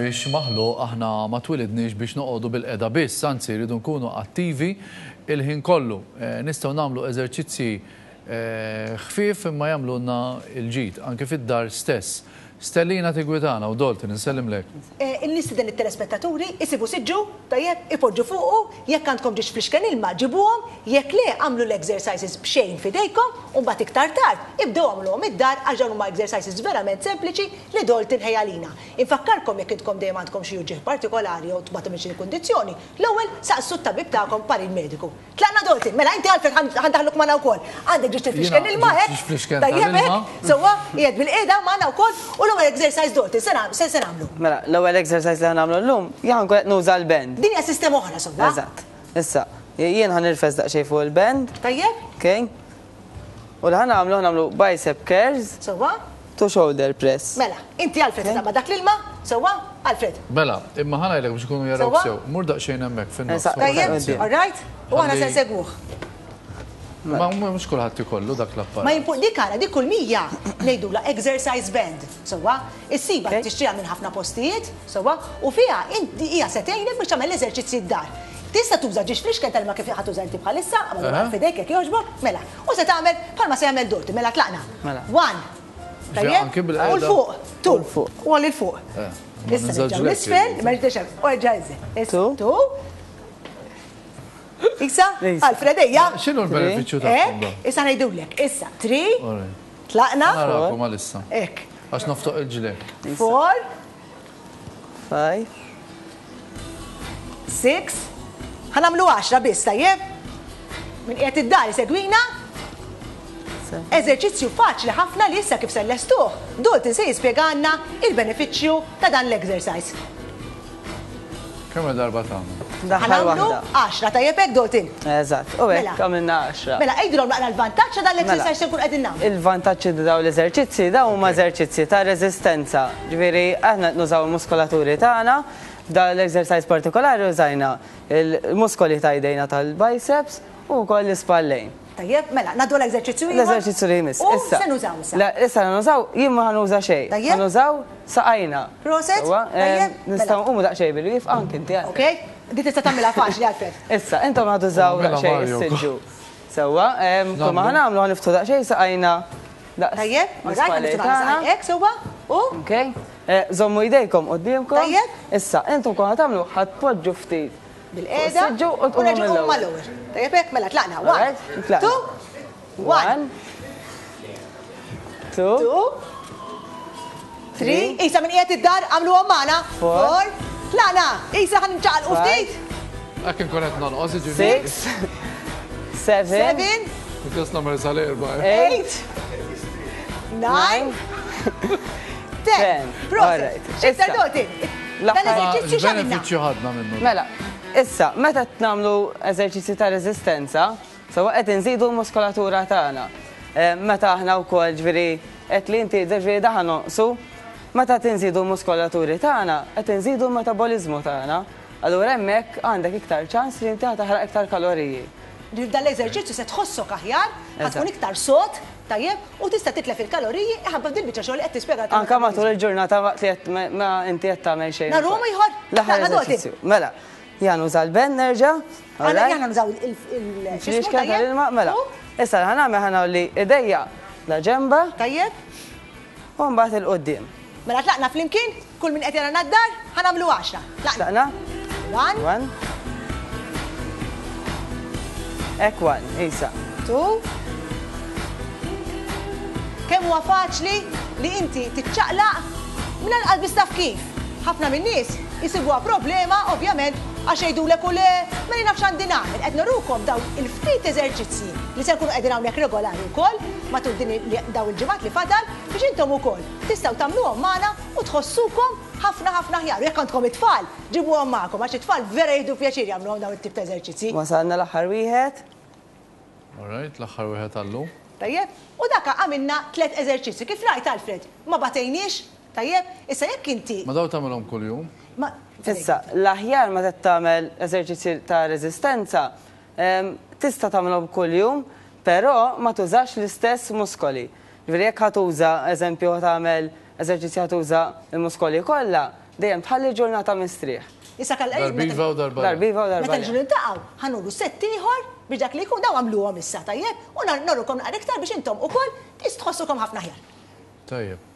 mhuwiex maħluq, aħna ma twilidniex biex noqogħdu bilqiegħda biss, anzi rridu nkunu attivi il-ħin kollu. Nistgħu nagħmlu eżerċizzji ħfief imma jagħmlulna l-ġid, anke fid-dar stess. Stellina Tigwitana u Dalton, insellimlek. Nistieden lit-telespettaturi isibu siġġu, tajjeb, ipoġġu fuqu, jekk għandkom ġiex flixken ilma ġibuhom, jekk le agħmlu l-exercises b'xejn f'idejkom u mbagħad iktar tard ibdew agħmluhom id-dar għax dawn huma exercises verament sempliċi li Dalton ħejja għalina. Infakkarkom jekk intkom dejjem għandkom xi uġigħ partikolari jew tbatu minn xi kundizzjoni, l-ewwel saqsu t-tabib tagħkom parir mediku. Tlaqna Dalton, mela inti Alfred ħa ndaħħluk magħna wkoll. Għandek ġiex tiflixken ilma hekk. Tajjeb hekk, sewwa, qiegħed bilqiegħda magħna wkoll u l-ewwel exercise Dalton se se nagħmlu. Mela, l-ewwel exercise li ħa nagħmlu llum, jien ħa nkun qed nuża l-band. Din hija sistema oħra sewwa. Eżatt. Issa, jien ħa nirfes daqsxejn fuq il-band. Tajjeb. Okay. U li ħa nagħmlu, ħa nagħmlu bicep curls. Sewwa. To shoulder press. Mela, inti Alfred se taqbad dak l-ilma, sewwa? Alfred. Mela, imma ħa ngħidlek biex ikunu jarawk sew. Mur daqsxejn hemmhekk fin-nofs. Tajjeb, all right? U aħna se nsegwuh. Ma mhux kulħadd ikollu dak l-apparat. Ma jimpu dik ara, dik kull mija ngħidulha exercise band, sewwa? Issibha tixtriha minn ħafna postijiet, sewwa? U fiha inti hija se tgħinek biex tagħmel l-eżerċizzji d-dar. Tista' tuża ġiex flixken tal-ilma kif ħa tuża inti bħalissa, għamel f'idejk jekk jogħġbok, mela. U se tagħmel bħalma se jagħmel Dorothy, mela tlaqna. Mela. One. Tajjeb? U 'l fuq. Two. U 'l fuq. Issa nerġgħu 'l isfel, ma rridx u erġa' inżel. Two. Two. Issa, Alfred ejja. X'inhu l-benefiċċju tagħhom? Issa ngħidulek. Issa, three. Tlaqna. Narakom għalissa. Hekk. Għax noftoq il-ġlek. Four. 5. 6. Ħa nagħmlu 10 biss, tajjeb? Min qiegħed id-dar isegwina. Eżerċizzju faċli ħafna li issa kif se nlestuh, Dalton se jispjegalna il-benefiċċju ta' dan l-exercise. Kemm darba tagħmel? Ħa nagħmlu 10, tajjeb hekk Dalton? Eżatt, u hekk mela. għamilna 10. Mela għidilhom naqra l-vantaġġ ta' dan l-exercise se nkun qegħdin nagħmlu. Il-vantaġġ ta' dawn l-eżerċizzji dawn huma eżerċizzji ta' reżistenza. Ġifieri aħna qed nużaw il-muskolaturi tagħna, f'dan l-exercise partikolari użajna il-muskoli ta' jdejna tal-biceps u wkoll l-ispallejn. Tajjeb, mela, ngħaddu għal eżerċizzju ieħor. L-eżerċizzju li jmiss. U se nużaw issa. Issa nużaw, jien ma ħanuża xejn. Tajjeb. Ħanużaw saqajna. Proset. Tajjeb. Mela. Nistgħu nqumu daqsxejn bil-wieqfa anke inti. Ok, di tista' tagħmilha faċli Alfred. Issa, intom ħa tużaw daqsxejn is-siġġu. Sewwa, kull ma ħanagħmlu ħaniftħu daqsxejn saqajna daqs. Tajjeb, alright, ħaniftħu saqajna hekk sewwa u. Ok. Żommu jdejkom quddiemkom. Tajjeb. Issa, intom kull ma tagħmlu ħa tpoġġu ftit Bil-qiegħda. Siġġu u tqumu mill-ewwel. mal-ewwel. Tajjeb hekk, mela tlaqna. One, two, one. Two. Two. Three. Isa minn qiegħed id-dar għamluhom magħna. Four. Tlaqna. Isa ħan nċaqalqu ftit. Hekk inkun qed nonqos jiġifieri. Six. Seven. Seven. Just nagħmel sal-erba'. Eight. Nine. 10. Proset. X'iktar doti? Dan eżerċizzju x'għamilna? Benefiċċju ħadna minnu. Mela, issa, meta nagħmlu eżerċizzji ta' reżistenza, sewwa qed inżidu l-muskolatura tagħna. Eh, meta aħna wkoll ġifieri qed li inti ġifieri daħan nonqsu, meta tinżidu l-muskolaturi tagħna, qed inżidu l-metaboliżmu tagħna. Allura hemmhekk għandek iktar ċans li inti taħraq iktar kaloriji. Dan l-eżerċizzju se tħossok aħjar, ħa tkun iktar sod, tajjeb, u tista' titlef il-kaloriji iħabba f'dil biċċa xogħol li qed tispjega Anke matul il-ġurnata waqt li qed ma inti qed tagħmel xejn. Narhom ieħor? L-aħħar eżerċizzju. Mela, jien nuża l-ben nerġa'. Aħna aħna nużaw il- 'il tal-ilma, mela. Issa li ħa nagħmel ħa ngħolli idejja la ġenba. Tajjeb. U mbagħad 'il quddiem. Mela tlaqna flimkien, kull min qed jarana d-dar, ħa nagħmlu għaxra. Tlaqna. One. One. Hekk one, isa. Two. Kemm huwa faċli li inti tiċċaqlaq mingħajr lanqas biss taf kif. Ħafna min-nies isibuha problema, ovvjament, għax jgħidulek u le, ma jien naf x'għandi nagħmel. Qed nurukom dawn il-ftit eżerċizzji li se nkunu qegħdin hawnhekk regolari wkoll matul din dawn il-ġimgħat li fadal biex intom ukoll tistgħu tagħmluhom magħna u tħossukom ħafna ħafna aħjar. U jekk għandkom it-tfal, ġibuhom magħkom għax it-tfal vera jieħdu pjaċir jagħmluhom dawn it-tip ta' eżerċizzji. Wasalna l-aħħar wieħed. All right, l-aħħar wieħed għal-lum. Tajjeb, u dak għamilna tlett eżerċizzji. Kif rajt Alfred, ma batejniex, tajjeb? Issa jekk inti. Ma dawn tagħmilhom kuljum? Ma. Issa, l-aħjar meta tagħmel eżerċizzji ta' reżistenza, tista' tagħmilhom kuljum, però ma tużax l-istess muskoli. Ġifieri jekk ħa tuża, eżempju, ħa tagħmel eżerċizzju ħa tuża l-muskoli kollha, Dejjem tħalli ġurnata mistrieħ. Issa kal Darba iva u darba le. Darba iva u darba Meta le. niġu niltaqgħu, ħa nuru sett ieħor biex dak li jkun dawn għamluhom issa, tajjeb? U norukom naqra iktar biex intom ukoll tħossukom ħafna aħjar. Tajjeb.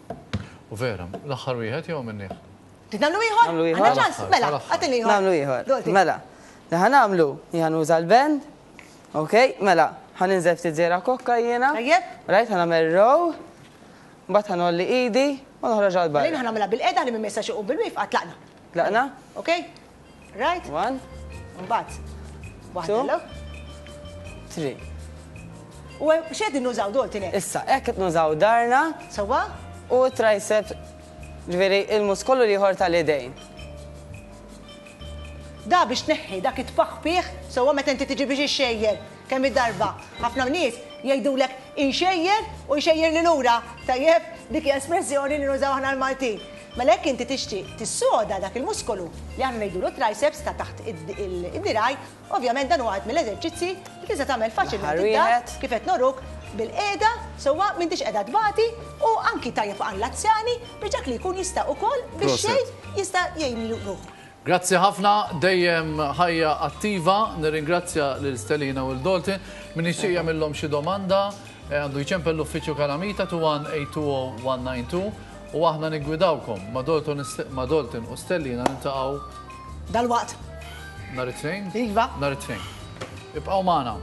U vera, l-aħħar wieħed jew għamilnieh? Trid nagħmlu ieħor? Nagħmlu ieħor. Għandna ċans? Mela, agħtini ieħor. Nagħmlu ieħor. Dolti. Mela, li ħa nagħmlu, jien ħa nuża l-band. Ok, mela, ħa ninżel ftit żiera kokka jiena. Tajjeb. Right, ħa nagħmel row. Mbagħad ħa ngħolli idi u noħroġ għal barra. Mela jien ħa nagħmilha bil-qeda li min ma jistax iqum bil-wieqfa tlaqna. Tlaqna? Ok? Right? One. Mbagħad. Waħda l Three. U x'qegħdin nużaw Dalton hekk? Issa, hekk qed nużaw darna. Sewwa? U tricep, ġifieri il-muskolu l-ieħor tal-idejn. Da biex tneħħi dak it-tpaħpiħ sewwa meta inti tiġi biex ixxejjer. Kemm il-darba ħafna nies jgħidulek inxejjer u jxejjirli lura. Tajjeb, dik hija espressjoni li nużaw aħna l-Maltin. Mela jekk inti tixtieq tissoda dak il-muskolu li aħna ngħidulu triceps ta' taħt id-dirgħaj, ovvjament dan huwa wieħed mill-eżerċizzji li tista' tagħmel faċilment id-dar kif qed noruk bilqiegħda sewwa m'intix qiegħda tbati u anki tajjeb għall-anzjani biex dak li jkun jista' ukoll bix-xejn jista' jgħin ruħu. Grazzi ħafna, dejjem ħajja attiva, nirringrazzja lil Stelina u lil Dalton. Min jixtieq jagħmilhom xi domanda, għandu jċempel l-uffiċċju Kalamita 21820-192 u aħna niggwidawkom. Ma' Dalton ma' Dalton u Stellina niltaqgħu Dalwaqt. Nhar it-Tnejn? Iva. Nhar it-Tnejn. Ibqgħu magħna.